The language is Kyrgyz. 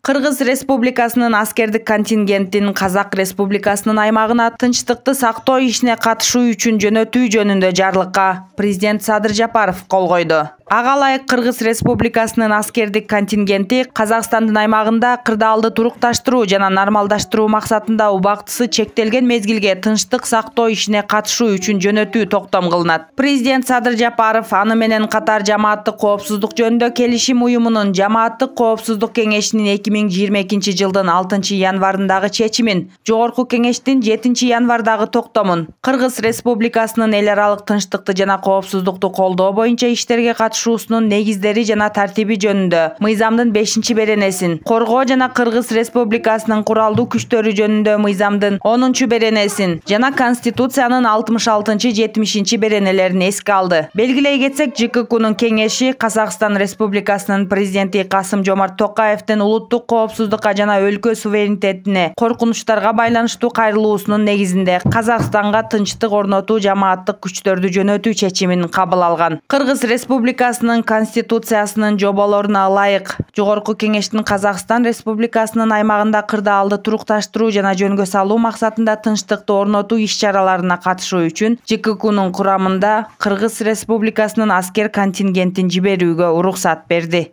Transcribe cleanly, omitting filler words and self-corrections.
Кыргыз Республикасынын аскердик контингентин Казак Республикасынын аймагына тынчтыкты сактоо ишине катышуу үчүн жөнөтүү жөнүндө жарлыкка президент Садыр Жапаров кол койду. Ага ылайык Кыргыз Республикасынын аскердик контингенти Казакстандын аймагында кырдаалды турукташтыруу жана нормалдаштыруу максатында убактысы чектелген мезгилге тынчтык сактоо ишине катышуу үчүн жөнөтүү токтом кылынат. Президент Садыр Жапаров аны менен катар Жамааттык коопсуздук жөнүндө келишим уюмунун Жамааттык коопсуздук кеңешинин 2022 жылдын 6 январындагы чечимин, Жогорку кеңештин 7 январдагы токтомун, Кыргыз Республикасынын эл аралык тынчтыкты жана коопсуздукту колдоо боюнча иштерге катышуусунун негиздери жана тартиби жөнүндө мыйзамдын 5-беренесин, коргоо жана Кыргыз Республикасынын куралдуу күчтөрү жөнүндө мыйзамдын 10-беренесин жана Конституциянын 66-70 беренелерин эске алды. Белгилей кетсек, ЖККнун кеңеши Казакстан Республикасынын президенти Касым-Жомарт Токаевдин улуттук коопсуздукка жана өлкө суверенитетине коркунучтарга байланыштуу кайрылуусунун негизинде Казакстанга тынчтык орнотуу жамааттык күчтөрдү жөнөтүү чечимин кабыл алган. Кыргыз Республикасынын Конституциясынын жоболоруна ылайык Жогорку кеңештин Казакстан Республикасынын аймагында кырдаалды турукташтыруу жана жөнгө салуу максатында тынчтыкты орнотуу иш-чараларына катышуу үчүн ЖККнун курамында Кыргыз Республикасынын аскер контингентин жиберүүгө уруксат берди.